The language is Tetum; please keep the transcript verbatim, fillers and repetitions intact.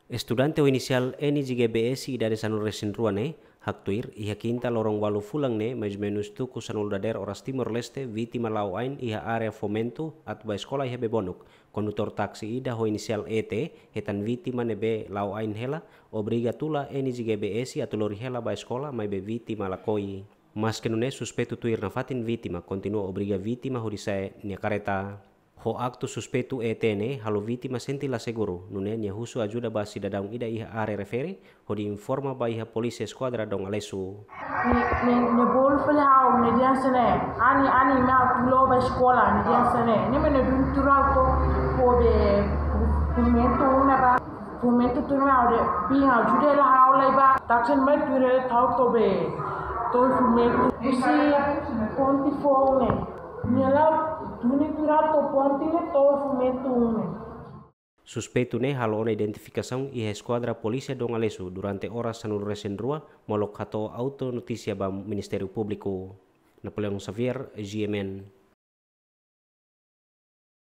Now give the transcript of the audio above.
Estudante ho inisiál N G B S idade sanulu-resin-rua ne'e haktuir, iha kinta loron ualu fulan ne'e, mais ou menus tuku sanulu dadeer oras Timor-Leste, vítima la'o ain iha área Fomento atu ba eskola iha Bebonuk. Kondutór táksi ida ho inisiál E T hetan vítima ne'ebé la'o ain hela, obriga tula N G B S atu lori hela ba eskola, maibé vítima lakohi. Maske nune'e, suspeitu tuir nafatin vítima, kontinua obriga vítima hodi sa'e nia karreta. Ho aktu suspeitu E T ne'e halo vítima sente la seguru, nune'e nia husu ajuda ba sidadaun ida iha área refere, hodi informa ba iha Polísia Eskuadra Dom Aleixo. Nia, nia, nia bolu fali ha'u, nia dehan hanesan ne'e: "Anin, anin, mai atu la'o ba eskola," nia dehan hanesan ne'e. Nia mai, nia duni tuir ha'u to'o, to'o be Fomento ona ba. Fomento tuir mai ha'u dehan: "Bin, ajuda hela ha'u lai ba." Táksi mai tuir hela ha'u to'o be, to'o Fomento. Husi ponte foun ne'e. Nia la'o duni tuir ha'u to'o ponte ne'e to'o Fomento ne'e. Suspeitu ne'e halo ona identifikasaun iha Eskuadra Polísia Dom Aleixo durante oras sanulu-resin-rua, molok hato'o auto notísia ba Ministériu Públiku. Napoleão Xavier, G M N.